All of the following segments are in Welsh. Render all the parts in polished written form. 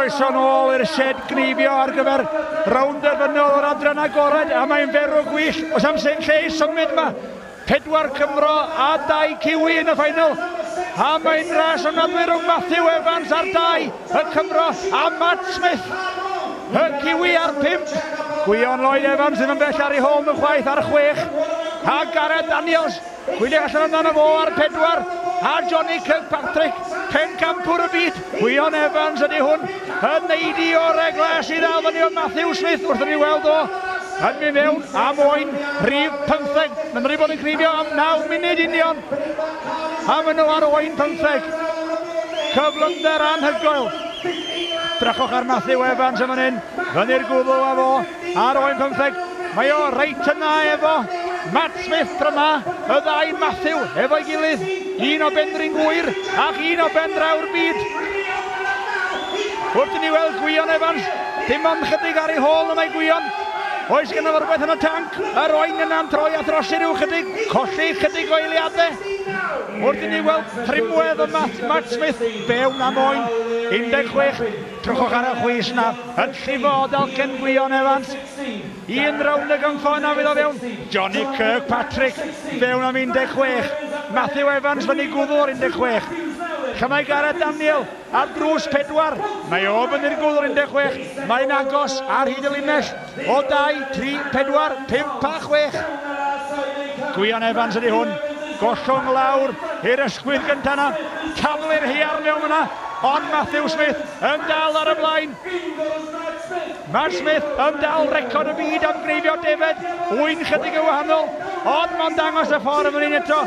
Croeso nôl i'r shed gneifio ar gyfer rownd derfynol o'r adran agored, a mae'n ferw gwych. Oes am lle i symud yma. 4 Cymro a 2 Kiwi yn y ffainal. A mae'n ras ofnadwy rhwng Matthew Evans ar 2, y Cymro, a Matt Smith, y Kiwi ar 5. Gwion Lloyd Evans ddim yn bell ar ei hôl nhw chwaith ar 6. A Gareth Daniels, gwyliwch allan amdano fo ar 4. A Johnny Kirkpatrick, pencampwr y byd. Gwion Evans ydy hwn, yn neidio o'r glas i ddal fyny o Matthew Smith wrth i ni weld o yn mynd mewn am oen rhif 15. Maen nhw wedi bod yn cneifio am 9 munud union. A maen nhw ar oen 15. Cyflymder anhygoel. Drychwch ar Matthew Evans yn fan hyn. Fyny'r gwddw â fo ar oen 15. Mae o reit yna efo Matt Smith tro yma. Y ddau Matthew efo'i gilydd. Un o Benrhyn Gŵyr ac un o ben draw'r byd. Wrth i ni weld Gwion Evans, dim ond chydig ar ei hôl y mae Gwion. Oes gynno fo rhywbeth yn y tanc? Yr oen yna'n troi a throsi rhyw chydig, colli chydig o eiliadau. Wrth i ni weld trimwedd y Matt, Matt Smith, fewn am oen, 16. Drychwch ar y chwys yna, yn llifo o dalcen Gwion Evans. Un rownd y gynffo yna fydd o fewn. Johnny Kirkpatrick fewn am 16. Matthew Evans fyny gwddw o'r 16. Lle mae Gareth Daniel ar drws 4. Mae o fyny'r gwddw o'r 16. Mae'n agos ar hyd y linell o 2, 3, 4, 5 a 6. Gwion Evans ydy hwn. Gollwng lawr i'r ysgwydd gyntaf yna. Taflu'r haearn mewn yna. Ond Matthew Smith yn dal ar y blaen. Matt Smith yn dal record y byd am gneifio defed, wy'n chydig yn wahanol, ond mae'n dangos y ffordd yn fan hyn eto.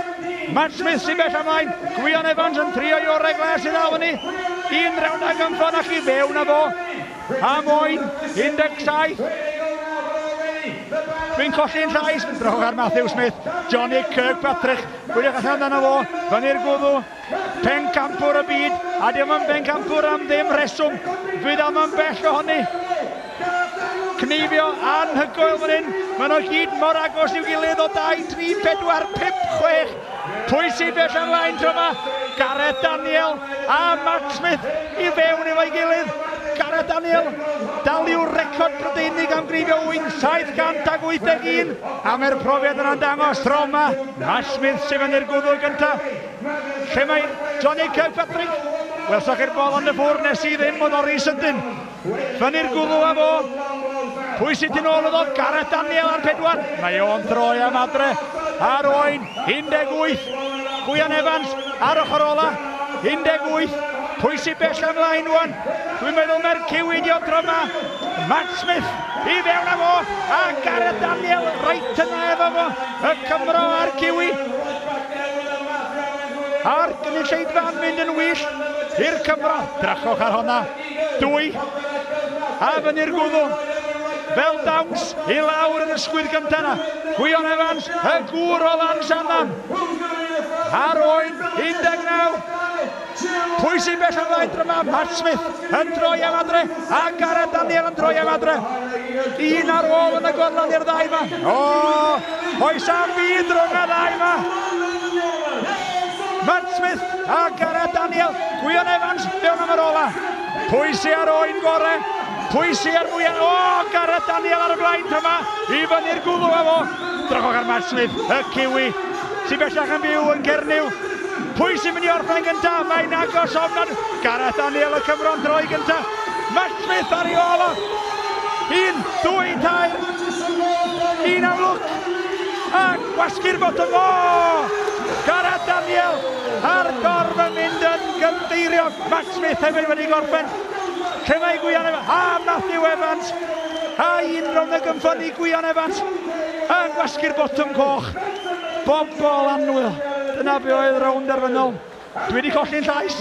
Matt Smith sy'n bell ymlaen, Gwion Evans yn trio i orau glas i ddal fyny. Un rownd ag ymffon ac i fewn â fo. Am oen, 17. Dwi'n colli'n llais, drwch ar Matthew Smith, Johnny Kirkpatrick, gwyliwch allan amdano fo, fyny'r gwddw. Pencampwr y byd, a diolch yn bencampwr am ddim rheswm. Fydd am yn bell ohoni. Cneifio anhygoel fan hyn. Maen nhw gyd mor agos i'w gilydd o 2, 3, 4, 5, 6. Pwy sy'n bell ymlaen tro yma? Gareth Daniel a Matt Smith i fewn efo'i gilydd. Gareth Daniel dal i'w record Brydeinig am gneifio wyn 781. A mae'r profiad yna'n dangos tro yma. Matt Smith sy'n fyny'r gwddw gyntaf. Lle mae Johnny Kirkpatrick? Welsoch chi'r bol ond y ffwr nes i ddim, oedd o rhy sydyn. Fyny'r gwddw â fo. Pwy sydd tu nôl iddo? Gareth Daniel ar 4. Mae o'n droi am adre. Ar oen, 18. Gwion Evans ar ochr ola, 18. Pwy sy'n bell ymlaen wan? Dwi'n meddwl mae'r Kiwi di o tro yma. Matt Smith i fewn â fo. A Gareth Daniel reit yna efo fo. Y Cymro a'r Kiwi. A'r gynulleidfa'n mynd yn wyllt i'r Cymro. Drachwch ar honna. 2. A fyny'r gwddw. Fel dawns i lawr yn y sgwydd gyntaf yna. Gwion Evans, y gŵr o Lansannan. Ar oen, 19. Pwy sy'n bell ymlaen dro yma? Matt Smith yn droi am adre, a Gareth Daniel yn droi am adre. Un ar ôl yn y gorlan i'r ddau yma. O, oes am fyd rhwng y ddau yma. Matt Smith a Gareth Daniel. Gwion Evans fewn am yr ola. Pwy sy'n ar oen gore? Pwy sy'n ar mwyaf? O, Gareth Daniel ar y blaen tro yma. I fyny'r gwddw â fo. Drychwch ar Matt Smith, y Kiwi, sy'n bellach yn byw yn Cernyw. Pwy sy'n mynd i orffen gyntaf? Mae'n agos ofnad. Gareth Daniel y Cymro'n droi gyntaf. Matt Smith ar ei ôl o. 1, 2, 3. Un am lwc. A gwasgu'r botwm. O! Gareth Daniel a'r dorf yn mynd yn gynddeiriog. Matt Smith hefyd wedi gorffen. Lle mae Gwion Evans? A Matthew Evans. A un rownd y gynffon i Gwion Evans. Yn gwasgu'r botwm coch. Bobol annwyl. Dyna be oedd rownd derfynol. Dwi wedi colli'n llais.